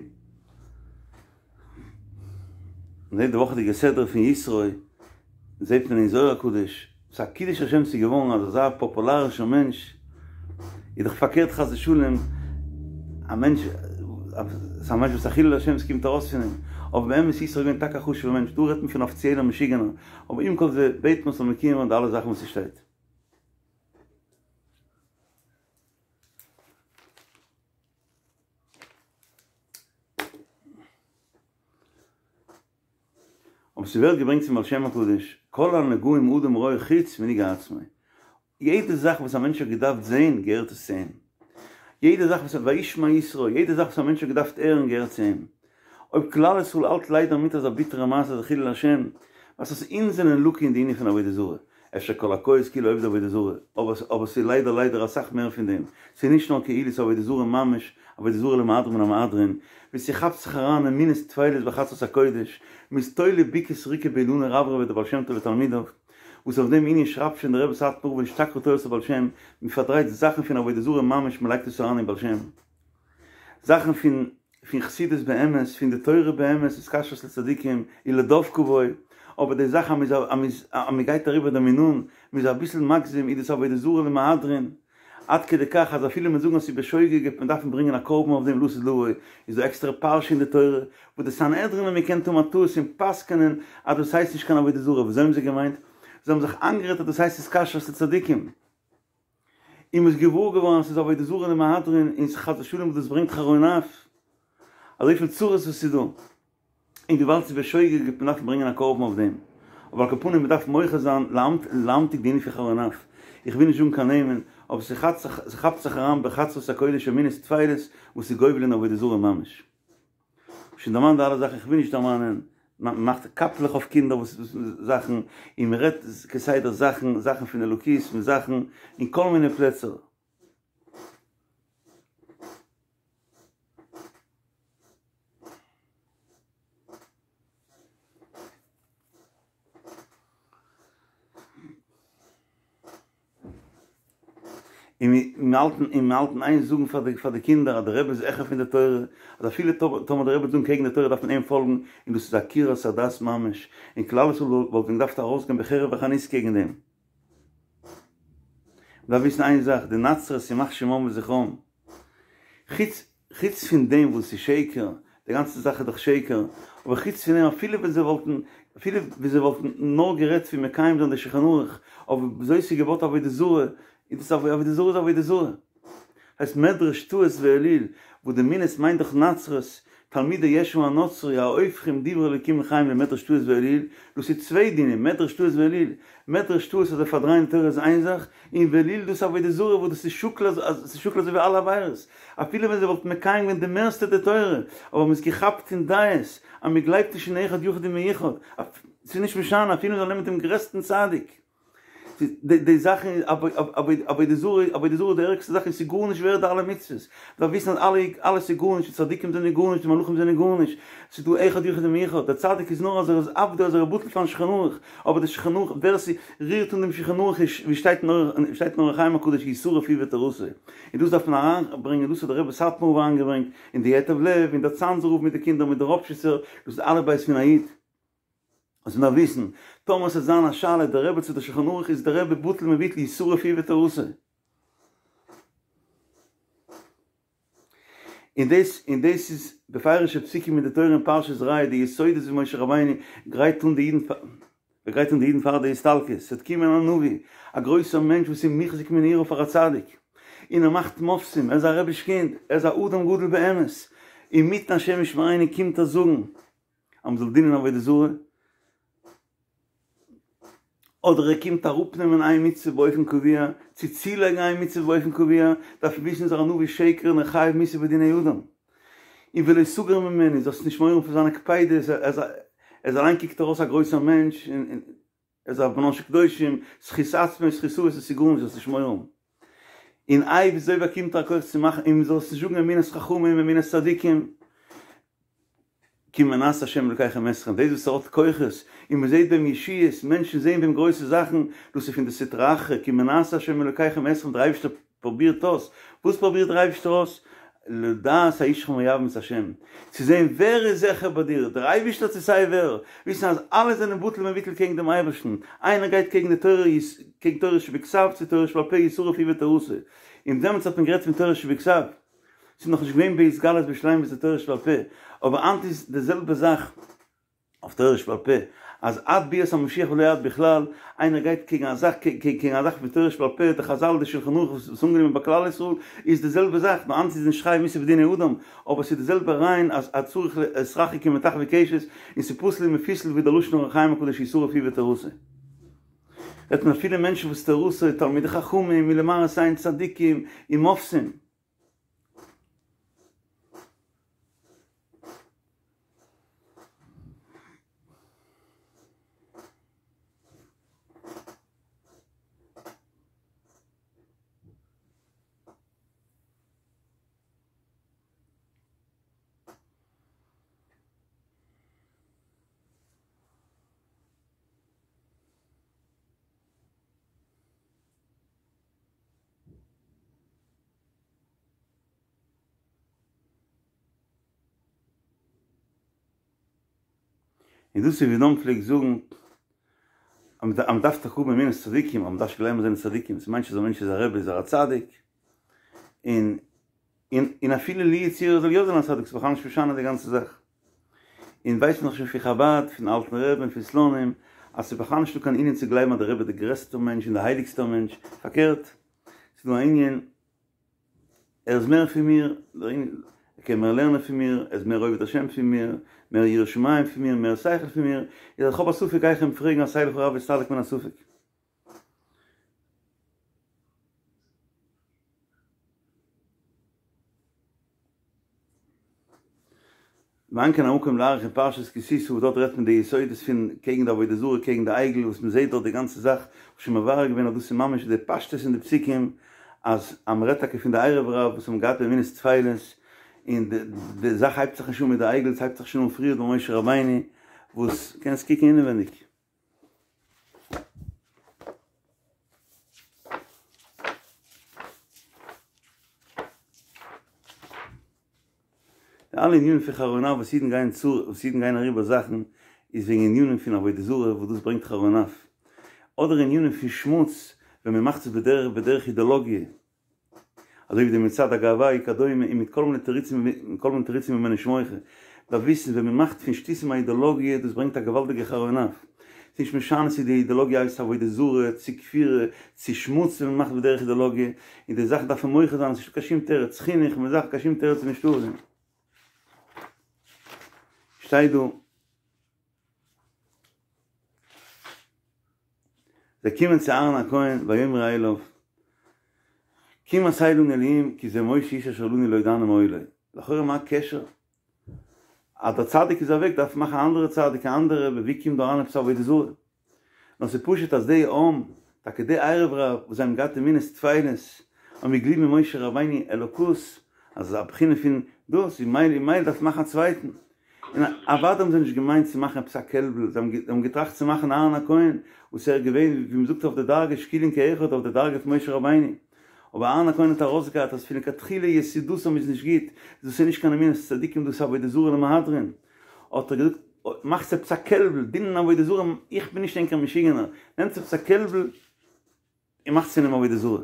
מען זעט די וואכעדיגע סדרה פון יתרו, זעט מען אין זוהר הקדוש, וואס א קידוש השם ס'איז געווארן אז אזא פאפולארישער מענטש, איז דאך פארקערט חס ושלום, א מענטש, ס'איז א מענטש וואס א חילול השם ס'קומט ארויס פון אים, אבער באמת יתרו איז געווען טאקע א חשוב'ער מענטש, דא רעדט מען פון אפיציעלער משוגענער, אבער עם כל זה בעט מען ס'זאל מקוים ווערן די אלע זאכן וואס ס'שטייט. אבער ס'ווערט געברענגט פון בעל שם הקדוש, כל הנגעים אדם רואה חוץ מנגעי עצמו. יעדע זאך וואס א מענטש האט געדארפט זען געהערט עס צו אים. יעדע זאך וואס וישמע יתרו, יעדע זאך וואס א מענטש האט געדארפט הערן געהערט צו אים. אויב כלל ישראל האלט ליידער מיט אזא ביטערע מעשה אזא חילול השם, ווייזט אז אונז זענען לקוי אין די ענין פון עבודה זרה, אפשר כל הכועס כאילו עובד עבודה זרה, אבער אבער ס'איז ליידער ליידער אסאך מער פון דעם, ס'איז נישט נאר כאילו ס'איז עבודה זרה ממש, עבודה זרה למהדרין מן המהדרין, ווי ס'כאפט זיך אריין אמונות טפלות בחצרות הקודש, מ'איז תולה בוקה וסריקה באילנא רברבא דבעל שם טוב ותלמידיו, וואס אויף דעם ענין שרייבט שוין דער רבי סאטמאר רב נשתכחה תורת הבעל שם, מ'פארדרייט זאכן פון עבודה זרה ממש מ'לייגט עס אריין אין בעל שם. זאכן פון פון חסידות באמת, פון די תורה באמת, התקשרות לצדיקים, ולדבקה בו, אבער די זאך אז מ'איז אז מ'איז אז מ'גייט אריבער די מינון, מ'איז אביסל מגזים, איז דאס עבודה זרה למהדרין, עד כדי כך אז אפילו מ'וועט זאגן אז ס'איז בשוגג וועט מען דארפן ברענגען א קרבן אויף דעם לעתיד לבוא, איז דא עקסטערע פרשה אין די תורה, וואס די סנהדרין האבן געקענט האבן א טעות און פסק'נען אז דאס הייסט נישט קיין עבודה זרה, וויאזוי האבן זיי געמיינט? זיי האבן זיך איינגערעדט אז דאס הייסט התקשרות לצדיקים. און מ'איז געוואר געווארן אז ס'איז עבודה זרה למהדרין און ס'חס ושלום וואס דאס ברענגט חרון אף, אזויפיל צרות וואס ס'איז דא, און וויבאלד ס'איז בשוגג וועט מען דארפן ברענגען א קרבן אויף דעם, אבער על כל פנים מ'דארף מוחה זיין להמתיק די ענין פון חרון אף, איך וויל נישט זאגן קיין נעמען, אבער ס'כאפט זיך אריין בחצרות הקודש אמונות טפלות וואס איז גובל אין עבודה זרה ממש. שוין דערמאנט די אלע זאכן, איך וויל נישט דערמאנען, מען מאכט קאפלעך אויף קינדער וואס זאכן, און מען רעדט כסדר זאכן, זאכן פון אלוקות מיט זאכן, אין כל מיני פלעצער. און מיר האלטן און מיר האלטן איין זאגן פאר די פאר די קינדער אז די רבי איז העכער פון די תורה, אז אפילו טאמער די רבי וועט זאגן קעגן די תורה דארף מען אים פאלגן, און דאס איז עקירת הדת ממש, און כלל ישראל וואלט ווען געדארפט ארויסגיין בחרב וחנית קעגן דעם. מ'דארף וויסן איין זאך, די נצרות ימח שמם וזכרם, חוץ חוץ פון דעם וואס ס'איז שקר, די גאנצע זאך איז דאך שקר, אבער חוץ פון דעם אפילו ווען זיי וואלטן, אפילו ווען זיי וואלטן נאר גערעדט פון מקיים זיין די שולחן ערוך, אבער וויאזוי ס'איז געבויט עבודה זרה, איז דאס עבודה זרה איז עבודה זרה. הייסט מדרש טעות ועליל, וואס די מינות מיינט דאך נצרות, תלמידי ישו הנוצרי ההופכים דברי אלוקים לחיים למדרש טעות ועליל, דאס איז צוויי דינים, מדרש טעות ועליל, מדרש טעות אז זיי פארדרייען די תורה איז איין זאך, און ועליל דאס עבודה זרה וואס דאס איז שקול אז ס'איז שקול אזוי ווי אלע עבירות, אפילו ווען זיי וואלטן מקיים געווען די מערסטע די תורה, אבער מ'איז געכאפט אין דעות אז מ'גלייבט נישט אין אחד יחיד ומיוחד, ס'איז נישט משנה אפילו מ'זאל נעמען דעם גרעסטן צדיק. די זאכן עבודה זרה, עבודה זרה איז די ערגסטע זאך און ס'איז גארנישט ווערד די אלע מצוות, מ'דארף וויסן אז אלע אלעס איז גארנישט, די צדיקים זענען גארנישט, די מלאכים זענען גארנישט, ס'איז דא אחד יחיד ומיוחד, דער צדיק איז נאר אז ער איז עבדו אז ער איז בטל פארן שולחן ערוך, אבער די שולחן ערוך ווער ס'רירט אן דעם שולחן ערוך איז ווי שטייט אין שטייט אין אור החיים הקדוש ישרף הוא ותורתו, און דאס דארף מען אריינברענגען, דאס האט דער רבי סאטמאר רב אריינגעברענגט, און די ייטב לב, און דער צאנזער רב מיט די קינדער מיט די ראפשיצער, דאס איז אלף בית פון א איד. אז מ'דארף וויסן, טאמער ס'וועט זיין א שאלה דער רבי צו דער שולחן ערוך איז דער רבי בטל מבוטל ישרף הוא ותורתו. און דאס און דאס איז בפירוש'ע פסוקים אין די תורה אין פרשת ראה די יסודות ווי משה רבינו גרייט אן די אידן פאר גרייט אן די אידן פאר די הסתלקות, ס'וועט קומען א נביא, א גרויסער מענטש וואס איז מוחזק מנעוריו פאר א צדיק, און ער מאכט מופתים, ער איז א רביש קינד, ער איז א אדם גדול באמת, אינמיטן השם ישמרינו קומט ער זאגן אז מ'זאל דינען עבודה זרה, אדער ער קומט אראפנעמען איין מצוה באופן קבוע, צו צולייגן איין מצוה באופן קבוע, דארף מען וויסן איז ער א נביא שקר און ער חייב מיתה בדיני אדם. און ולא תגור ממנו, זאלסט נישט מורא האבן פון זיינע קפידות, ער איז אליין קוקט ער אויס א גרויסער מענטש, און ער איז א בנן של קדושים, זכות עצמו, זכות אבות, עס איז גארנישט, זאלסט נישט מורא האבן. און איי וויאזוי באקומט ער א כח צו מאכן, און זאלסט נישט זאגן אמונת חכמים, אמונת צדיקים, כי מנסה השם אלקיכם אתכם, דאס וואס ער האט כוחות, און מען זעט ביי אים ישועות, מענטשן זעען ביי אים גרויסע זאכן, דאס איז פון די סטרא אחרא, כי מנסה השם אלקיכם אתכם, דער אייבערשטער פרובירט אויס, וואס פרובירט דער אייבערשטער אויס? לדעת הישך מאהבים את השם, צו זען ווער איז העכער ביי דיר, דער אייבערשטער צו סיי ווער, וויסן אז אלע זענען בטל ומבוטל קעגן דעם אייבערשטן, איינער גייט קעגן די תורה, קעגן תורה שבכתב צו תורה שבעל פה ישרף הוא ותורתו, און דעמאלטס האט מען גערעדט פון תורה שבכתב, ס'איז נאכנישט געווען בהתגלות בשלימות די תורה שבעל פה, אבער היינט איז די זעלבע זאך אויף תורה שבעל פה, אז עד ביאת המשיח ולא עד בכלל, איינער גייט קעגן א זאך קעגן א זאך פון תורה שבעל פה, די חזל די שלחן ערוך וואס איז אנגענומען ביי כלל ישראל, איז די זעלבע זאך, נאר היינט איז נישט חייב מיתה בדיני אדם, אבער ס'איז די זעלבע רעיון אז אז צריך להתרחק כמטחווי קשת, און ס'פסול ומפוסל ווי דער לשון אור החיים הקדוש ישרף הוא ותורתו. רעדט מען אפילו מענטשן וואס תורתו, תלמידי חכמים, מלמראית עין צדיקים, און מופתים. און דאס איז ווי דאן פלעגט זאגן אז מען דארף טאקע האבן אמונת צדיקים, אבער מען דארף נישט גלייבן אז זיי זענען צדיקים, ס'מיינט נישט אז א מענטש איז א רבי איז ער א צדיק, און און אפילו לו יצוייר ער זאל יא זיין א צדיק ס'איז בכלל נישט משנה די גאנצע זאך. און ווייסט מען דאך שוין פון חבד, פון אלטן רבי'ן און פון סלונים, אז ס'איז בכלל נישטא קיין ענין צו גלייבן אז דער רבי איז דער גרעסטער מענטש און דער הייליגסטער מענטש, פארקערט, ס'איז דא א ענין, ער איז מער פון מיר, ער קען מער לערנען פון מיר, ער איז מער עובד השם פון מיר, מער ירא שמים פון מיר, מער שכל פון מיר, איז אז כ'האב א ספק גיי איך אים פרעגן עשה לך רב והסתלק מן הספק. ואין כאן המקום להאריך אין פרשת כי תשא וואס דארט רעדט מען די יסודות פון קעגן די עבודה זרה קעגן די עגל וואס מען זעט דארט די גאנצע זאך, כ'האב שוין מברר געווען אז דאס איז ממש די פשטות אין די פסוקים אז אז מען רעדט טאקע פון די ערב רב וואס האבן געהאט אמונות טפלות און די די זאך הייבט זיך נישט אן מיט די עגל עס הייבט זיך שוין אן פריער ביי משה רבינו וואס קענסט קוקן אינעווענדיג. די אלע ענינים פון חרון אף וואס אידן גייען צו, וואס אידן גייען אריבער זאכן, איז וועגן ענינים פון עבודה זרה וואס דאס ברענגט חרון אף. אדער ענינים פון שמוץ ווען מען מאכט עס בדרך בדרך אידעלאגיע. אזוי ווי די מצעד הגאווה וכדומה און מיט כל מיני תירוצים מיט כל מיני תירוצים ווען מען נישט מוחה. דארף וויסן ווען מען מאכט פון שטותים א אידעלאגיע דאס ברענגט א געוואלדיגע חרון אף. ס'נישט משנה צו די אידעלאגיע הייסט עבודה זרה, צו כפירה, צו שמוץ ווען מען מאכט בדרך אידעלאגיע, און די זאכן דארף מען מוחה זיין, ס'נישטא קיין שום תירוץ, חינוך מיט זאכן קיין שום תירוץ איז נישטא אויף דעם. שטייט דא. זיי קומען צו אהרן הכהן ויאמרו אליו קום עשה לנו אלהים כי זה משה האיש אשר לנו לא ידענו מה היה לו. לכאורה מה הקשר? אז דער צדיק איז אוועק דארף מען מאכן א אנדערע צדיק א אנדערע רבי, ווי קומט דא אריין עפעס עבודה זרה? נאר ס'איז פשוט אז די עם, טאקע די ערב רב וואס זיי האבן געהאט אמונות טפלות, האבן געגליבן אין משה רבינו אלוקות, אז א בחינה פון דאס, און מילא און מילא דארף מען מאכן א צווייטן. און אוודאי האבן זיי נישט געמיינט צו מאכן עפעס א קעלבל, זיי האבן געטראכט צו מאכן אהרן הכהן, וואס ער איז געווען, ווי מ'זאגט אויף די דרגה שקולין כאחד אויף די דרגה פון משה רבינו. אבער אהרן הכהן האט ארויסגעהאט אז פון לכתחילה יסודתם איז נישט גוט, דאס איז נישט קיין אמונת צדיקים דאס איז עבודה זרה למהדרין. האט ער געזאגט, מאכטס עפעס א קעלבל, דינען עבודה זרה, איך בין נישט ענקער משוגענער, נעמטס עפעס א קעלבל און מאכטס פון אים עבודה זרה.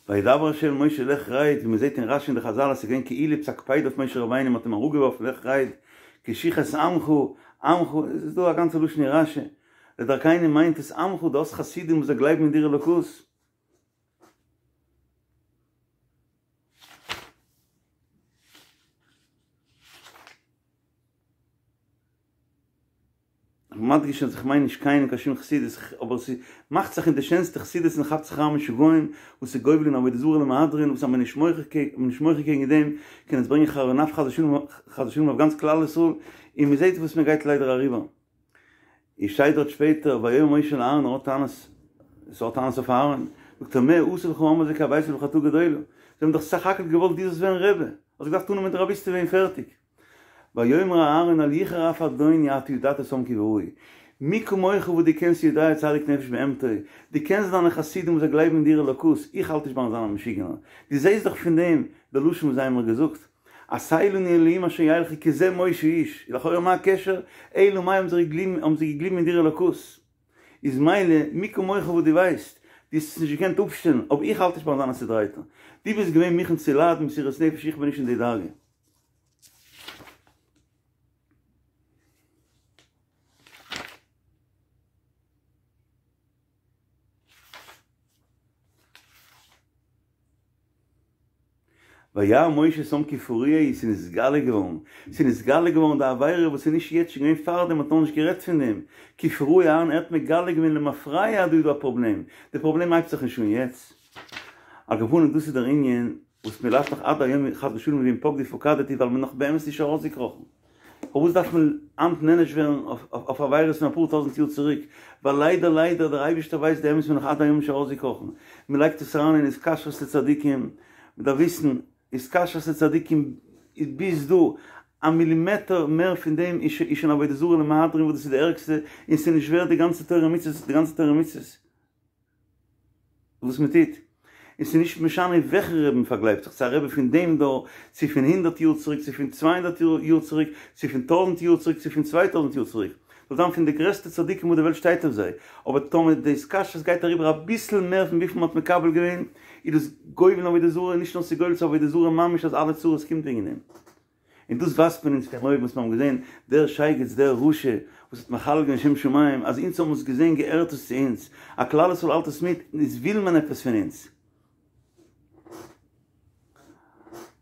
וידבר ה' אל משה לך רד, ווי מען זעט אין רשי און די חזל אז ס'איז געווען כאילו עפעס א קפידה אויף משה רבינו, מען האט אים אראפגעווארפן לך רד, כי שחת עמך, עמך, עס איז דא א גאנצע לשון אין רשי, לדרכינו מיינט עס עמך, דו האסט חסידים וואס זיי גלייבן אין דיר אלוקות. איך בין מדגיש אז איך מיין נישט קיינעם קיין שום חסידות, אבער ס'מאכט זיך אין די שענסטע חסידות'ן כאפט זיך אריין משוגעים וואס איז גובל אין עבודה זרה למהדרין וואס אז מען נישט מוחה קעגן דעם קען עס ברענגען חרון אף חס ושלום חס ושלום אויף גאנץ כלל ישראל און מען זעט וואס מען גייט ליידער אריבער. און שטייט דארט שפעטער ויאמר משה אל אהרן ער האט טענות ער האט טענות אויף אהרן זאגט ער מה עשו לך העם הזה כי הרבית בחטאה גדולה זיי האבן דאך סך הכל געוואלט דו זאלסט ווערן רבי האסט געדארפט אננעמען די רביסטעווע און פערטיג ויאמר אהרן אל יחר אף אדוני אתה ידעת את העם כי ברעו מי כמוך וואס דו קענסט יודע צדיק נפש בהמתו דו קענסט דיינע חסידים וואס זיי גלייבן אין דיר אלוקות איך האלט נישט ביים זיין א משוגענער דו זעסט דאך פון דעם די לשון וואס זיי האבן מיר געזאגט עשה לנו אלהים אשר ילכו כי זה משה האיש, לכאורה מה הקשר, אלא מאי האבן זיי געגליבן האבן זיי געגליבן אין דיר אלוקות, איז מילא מי כמוך וואס דו ווייסט, דו האסט עס נישט געקענט אפשטעלן, אבער איך האלט נישט ביים זיין א צודרייטער, דו ביסט געווען מוכן צו ליידן מסירות נפש איך בין נישט אין די דרגה. וירא משה את העם כי פרוע הוא, ס'איז נתגלה געווארן, ס'איז נתגלה געווארן די עבירה וואס איז נישט יעצט שוין געווען פארדעם מ'האט נאכנישט גערעדט פון דעם, כי פרוע הוא אהרן ער האט מגלה געווען למפרע אז דא איז דא א פראבלעם, די פראבלעם הייבט זיך נישט אן יעצט. על כל פנים דאס איז דער ענין וואס מ'לאכט נאך עד היום חס ושלום ואם פקדי פקדתי ווייל מ'איז נאך באמת נישט ארויסגעקראכן. פארוואס דארף מען היינט נענש ווערן אויף עבירות פון אפאר טויזנט יאר צוריק? ווייל ליידער ליידער דער אייבערשטער ווייסט די אמת מ'איז נאך עד היום נישט ארויסגעקראכן, מען לייגט עס אריין אין התקשרות לצדיקים, מען דארף וויסן, התקשרות לצדיקים איז ביז דא, א מילימעטער מער פון דעם איז שוין עבודה זרה למהדרין וואס דאס איז די ערגסטע, און ס'איז נישט ווערד די גאנצע תורה ומצוות, די גאנצע תורה ומצוות. וואס מען טוט, און ס'איז נישט משנה וועלכע רבי מען פארגלייבט זיך, צו א רבי פון דעם דור, צו פון הונדערט יאר צוריק, צו פון צוויי הונדערט יאר צוריק, צו פון טויזנט יאר צוריק, צו פון 2000 יאר צוריק, זאל זיין פון די גרעסטע צדיקים וואס די וועלט שטייט אויף זיי, אבער טאמער די התקשרות גייט אריבער אביסל מער פון וויפיל מען האט מקבל געווען, איז דאס גובל אין עבודה זרה, נישט נאר ס'איז גובל צו עבודה זרה ממש אז אלע צרות קומט וועגן דעם. און דאס ווייזט מען אונז פון אויבן וואס מיר האבן געזען, דער שייגעץ, דער רשע, וואס האט מחלל געווען שם שמים, אז אונז האבן עס געזען געהערט עס צו אונז, א כלל ישראל האלט עס מיט, איז וויל מען עפעס פון אונז.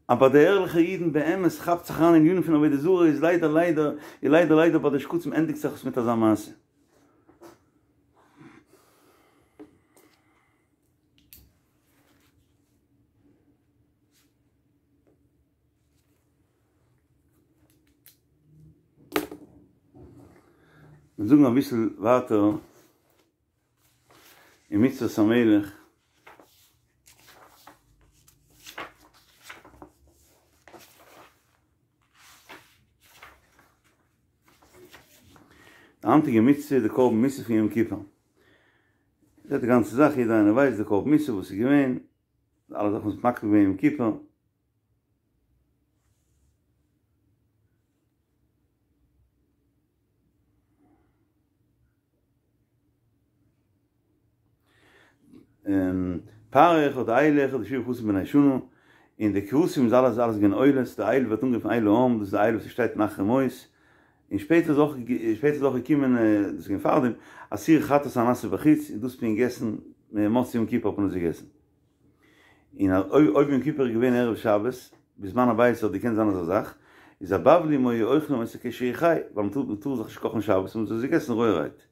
אבער די ערליכע אידן באמת כאפט זיך אריין אין ענינים פון עבודה זרה איז ליידער ליידער איז ליידער ליידער ביי די שקצים ענדיגט זיך עס מיט אזא מעשה. מיר זאגן אביסל ווייטער אין מצוות המלך. די היינטיגע מצוה איז די קרבן מוסף פון יום כיפור. זעט די גאנצע זאך, יעדער איינער ווייסט די קרבן מוסף וואס איז געווען, אלע זאכן וואס מ'האט מקריב געווען יום כיפור. פר אחד, איל אחד, ושבעה כבשים בני שנה, און די כבשים איז אלעס אלעס געווען עולות, די איל ווערט אנגערופן איל העם, דאס איז די איל וואס שטייט אין אחרי מות, און שפעטער איז אויך שפעטער איז אויך געקומען, דאס איז געווען פארדעם, א שעיר חטאת הנעשה בחוץ, און דאס האט מען געגעסן מוצאי יום כיפור האט מען עס געגעסן. און אויב יום כיפור איז געווען ערב שבת, בזמן הבית האט געקענט זיין אזא זאך, איז הבבלים היו אוכלים אותו כשהוא חי, ווייל מען טאר זיך נישט קאכן שבת, האבן זיי עס געגעסן רויערהייט.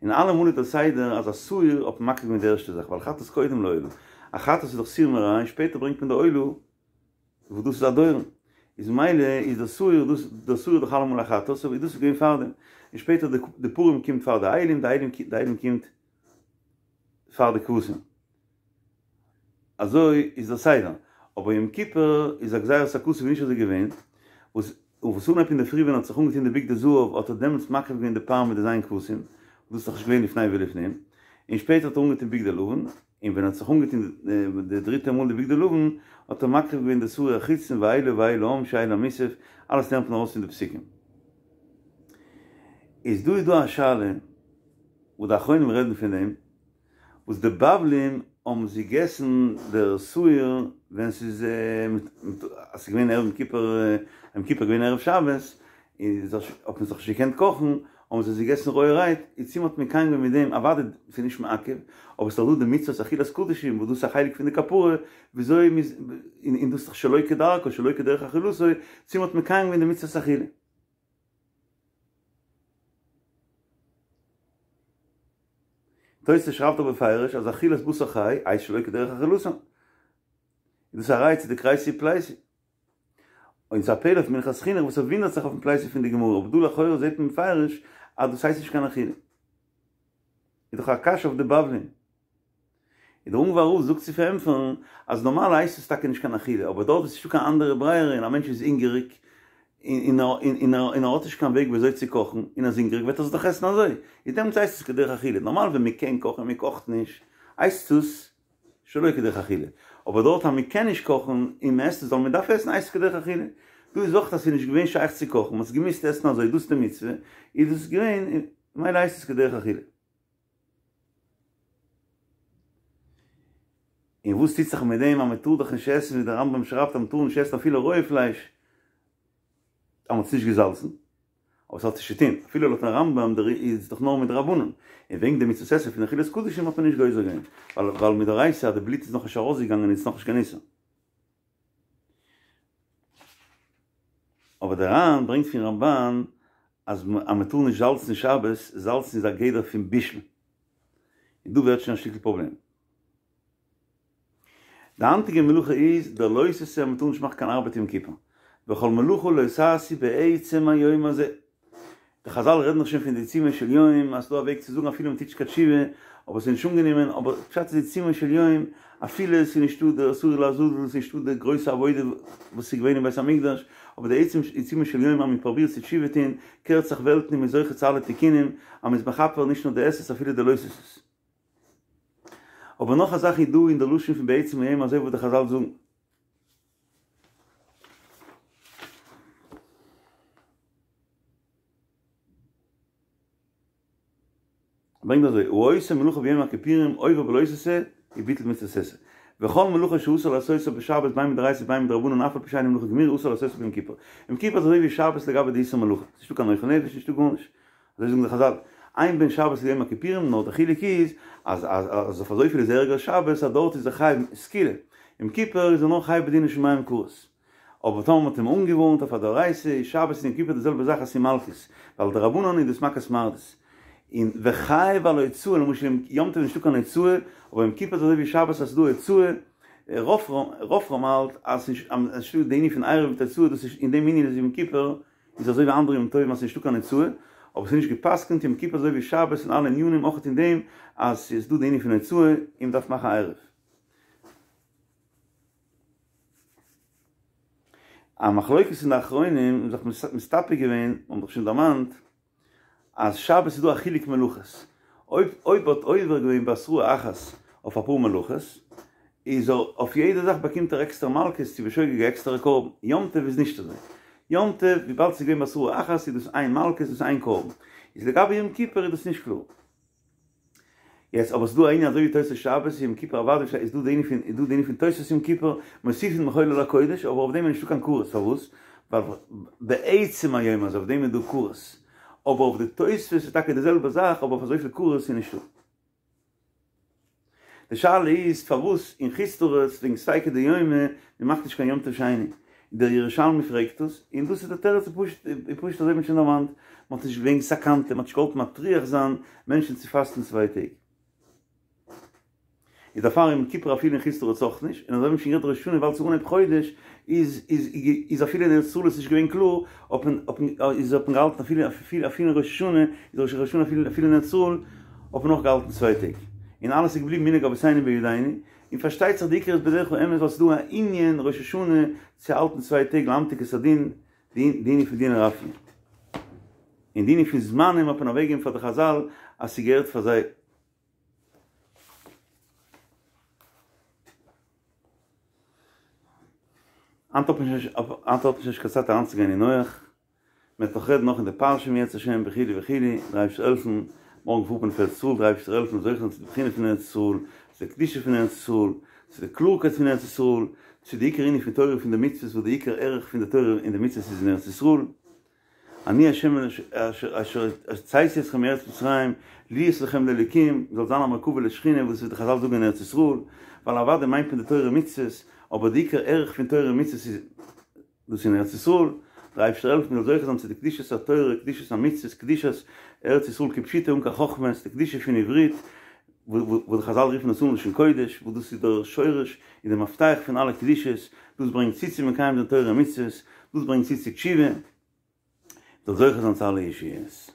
און אלעמאל איז דער סדר אז א שעיר האט מען מקריב געווען די ערשטע זאך, ווייל חטאת קודם לעולה, א חטאת איז דאך סור מרע און שפעטער ברענגט מען די עולה וואס דאס איז א דורון, איז ממילא איז דער שעיר דאס דער שעיר איז דאך אלעמאל א חטאת, סאו איז דאס געווען פארדעם, און שפעטער די פרים קומט פאר די אילים, די אילים די אילים קומט פאר די כבשים. אזוי איז דער סדר, אבער יום כיפור איז א גזירת הכתוב נישט אזוי געווען, וואס וואס אנהייב אינדערפרי ווען ער האט זיך אנגעטון די בגדי זהב האט ער דעמאלטס מקריב געווען די פר מיט די ז' כבשים, וואס דאס איז דאך נישט געווען לפני ולפנים, און שפעטער האט ער אנגעטון בגדי לבן, און ווען ער האט זיך אנגעטון די דריטע מאל די בגדי לבן האט ער מקריב געווען די שעיר החיצון ואילו ואיל העם שהוא איל המוסף, אלעס לערנט מען ארויס פון די פסוקים. איז דא איז דא א שאלה וואס די אחרונים רעדן פון דעם, וואס די בבלים האבן זיי געגעסן דער שעיר ווען ס'איז אז ס'איז געווען ערב יום כיפור, יום כיפור געווען ערב שבת, איז האט מען זיך נישט געקענט קאכן, האבן זיי עס געגעסן רויערהייט, איז צו מ'האט מקיים געווען מיט דעם, אוודאי ס'איז נישט מעכב, אבער ס'איז דאך דא די מצוות אכילת קדשים וואס דאס איז א חלק פון די כפרה, וויאזוי מ'איז, און דאס איז דאך שלא כדרכו שלא כדרך אכילתו, צו מ'האט מקיים געווען די מצוות אכילה. תוס' שרייבט אבער בפירוש אז אכילת בשר חי הייסט שלא כדרך אכילתן. איז דאס א ראיה צו די כרעיה פלייסי. און ס'איז א פלא אויף מנחת חינוך וואס ער וואונדערט זיך אויפן פלייסי פון די גמרא אבער דא לכאורה זעט מען בפירוש אז דאס הייסט נישט קיין אכילה. איז דאך א קשיא אויף די בבלים. און דער אונגוואר רב זאגט צו פארענטפערן אז נארמאל הייסט עס טאקע נישט קיין אכילה, אבער דארט וואו ס'נישטא קיין אנדערע ברירה און א מענטש איז הונגעריג און און ער האט נישט קיין וועג ווי אזוי צו קאכן און ער איז הונגעריג וועט ער עס דאך עסן אזוי, איז דעמאלטס הייסט עס כדרך אכילה, נארמאל ווען מ'קען קאכן און מ'קאכט נישט הייסט עס שלא כדרך אכילה, אבער דארט אז מ'קען נישט קאכן און מ'עסט עס ווייל מ'דארף עסן הייסט עס כדרך אכילה, דא איז אויך אז ס'איז נישט געווען שייך צו קאכן מ'האט עס געמוזט עסן אזוי דאס איז די מצוה, איז דאס געווען ממילא הייסט עס כדרך אכילה. און וואס טוט זיך מיט דעם אז מען טאר דאך נישט עסן ווי דער רמב"ם שרייבט אז מען טאר נישט עסן אפילו רויע פלייש אז מען האט עס נישט געזאלצן, אבער עס האט נישט צו טון, אפילו לויטן רמב"ם איז עס דאך נאר מדרבנן, און וועגן די מצות עשה פון אכילת קדשים האט מען נישט גוזר געווען, ווייל מדאורייתא אז די בלוט איז נאכנישט ארויסגעגאנגען איז עס נאכנישט קיין איסור. אבער דער ר"ן ברענגט פון רמב"ן אז מען טאר נישט זאלצן שבת, זאלצן איז א גדר פון בישול, און דא ווערט שוין א שטיקל פראבלעם. די היינטיגע מלאכה איז דער לא תעשה אז מען טאר נישט מאכן קיין ארבעט יום כיפור, וכל מלאכה לא תעשו בעצם היום הזה. די חזל רעדן דאך שוין פון די עיצומו של יום אז ס'דא א וועג צו זאגן אפילו מ'טוט נישט קיין תשובה, אבער ס'איז נישט אנגענומען, אבער פשט איז עיצומו של יום, אפילו ס'איז נישטא די שעיר לעזאזל, ס'איז נישטא די גרויסע עבודה וואס איז געווען אין בית המקדש, אבער די עצם עיצומו של יום אז מ'פרובירט צו תשובה טון, קערט זיך וועלטן און מ'איז זוכה צו אלע תיקונים, אז מ'איז מכפר נישט נאר די עשה'ס אפילו די לא תעשה'ס. אבער נאך א זאך איז דא אין די לשון פון בעצם היום הזה וואס די חזל זאגן. ברענגט אזוי, העושה מלאכה ביום הכיפורים עובר בלא תעשה וביטל מצות עשה. וכל מלאכה שאסור לעשותה בשבת בין מדאורייתא ובין מדרבנן אף על פי שאינה מלאכה גמורה אסור לעשותה ביום כיפור. יום כיפור איז אזוי ווי שבת לגבי די איסור מלאכה. ס'נישטא קיין אוכל נפש, נישטא גארנישט. אזוי זאגן די חזל, אין בין שבת ליום הכיפורים, נאר די חילוק איז אז אז אויף אזויפיל איז ערגער שבת אז דארט איז ער חייב סקילה, יום כיפור איז ער נאר חייב בדיני שמים כרת. אבער טאמער מ'האט אים אנגעווארנט אויף א דאורייתא איז שבת און יום כיפור די זעלבע זאך אז ס'איז מלקות, ווייל דרבנן איז דאס מכת מרדות. און וחייב על הוצאה, למשל יום טוב איז נישטא קיין הוצאה, אבער יום כיפור איז אזוי ווי שבת אז ס'איז דא הוצאה, רפרם האלט אז ס'נישטא די ענין פון עירוב מיט הוצאה, דאס איז אין דעם ענין איז יום כיפור איז אזוי ווי אנדערע יום טובים אז ס'איז נישטא קיין הוצאה, אבער ס'איז נישט גע'פסק'נט יום כיפור אזוי ווי שבת אין אלע ענינים אויך אין דעם אז ס'איז דא די ענין פון הוצאה און מ'דארף מאכן עירוב. א מחלוקת אין די אחרונים האבן זיך מסתפק געווען, מ'האט דאך שוין דערמאנט אז שבת איז דא א חילוק מלאכות, אויב אויב האט עובר געווען בהתראה אחת אויף אפאר מלאכות, איז ער אויף יעדע זאך באקומט ער עקסטערע מלקות צו בשוגג א עקסטערע קרבן, יום טוב איז נישט אזוי, יום טוב וויבאלד ס'איז געווען בהתראה אחת איז דאס איין מלקות דאס איין קרבן, איז לגבי יום כיפור איז דאס נישט קלאר. יעצט אבער ס'דא א ענין אזוי ווי תוספות שבת יום כיפור אוודאי איז דא די ענין פון איז דא די ענין פון תוספות יום כיפור מוסיפין מחול על הקודש אבער אויף דעם איז נישטא קיין כרת פארוואס? ווייל בעצם היום הזה אויף דעם איז דא כרת אבער אויף די תוספות איז טאקע די זעלבע זאך אבער אויף אזויפיל כרת איז נישטא. די שאלה איז פארוואס אין חוץ לארץ וועגן ספיקא דיומא מען מאכט נישט קיין יום טוב שני, דער ירושלמי פרעגט דאס, און דאס איז די תירוץ איז פשוט איז פשוט אזוי ווי מען האט שוין דערמאנט, מען האט נישט וועגן סכנתא, מען האט נישט געוואלט מטריח זיין מענטשן צו פאסטן צוויי טעג. איז דערפאר יום כיפור אפילו אין חוץ לארץ אויך נישט, און אזוי ווי מען האט שוין גערעדט ראש השנה ווייל ס'איז אנהייב חודש איז איז איז אפילו אין ארץ ישראל איז נישט געווען קלאר האט מען האט מען איז האט מען געהאלטן אפילו אפילו אפילו אין ראש השנה איז ראש השנה אפילו אפילו אין ארץ ישראל האט מען אויך געהאלטן צוויי טעג, און אלעס איז געבליבן מנהג אבותינו בידינו, און פארשטייט זיך די עיקר איז בדרך האמת ווייל ס'איז דא א ענין ראש השנה צו האלטן צוויי טעג להמתיק את הדין, די ענין פון דינא רפיא, און די ענין פון זמנים האט מען אוועקגעגעבן פאר די חזל אז ס'געהערט פאר זיי. היינט האט מען נישט קיין צייט אריינצוגיין אין נח, מען וועט נאך רעדן נאך אין די פרשה אם ירצה השם וכו' וכו', דער אייבערשטער העלפן, מארגן פארט מען אויף ארץ ישראל, דער אייבערשטער העלפן זוכה זיין צו די בחינה פון ארץ ישראל, צו די קדושה פון ארץ ישראל, צו די קלארקייט פון ארץ ישראל, צו די עיקר ענין פון תורה פון די מצוות וואס די עיקר ערך פון די תורה און די מצוות איז אין ארץ ישראל. אני ה' אשר הוצאתי אתכם מארץ מצרים להיות לכם לאלוקים, זאל זיין א מרכבה לשכינה וואס ווי די חזל זאגן אין ארץ ישראל, ווייל אוודאי מיינט מען די תורה ומצוות, אבער די עיקר ערך פון תורה ומצוות איז דאס אין ארץ ישראל, דער אייבערשטער העלפן מ'זאל זוכה זיין צו די קדושת התורה, קדושת המצוות, קדושת ארץ ישראל כפשוטו אן קיין חכמות, די קדושה פון עברית, וואס די חזל רופן עס אן לשון קודש, וואס דאס איז דער שורש און דער מפתח פון אלע קדושות, דאס ברענגט צו צו מקיים זיין תורה ומצוות, דאס ברענגט צו צו תשובה, מ'זאל זוכה זיין צו אלע ישועות.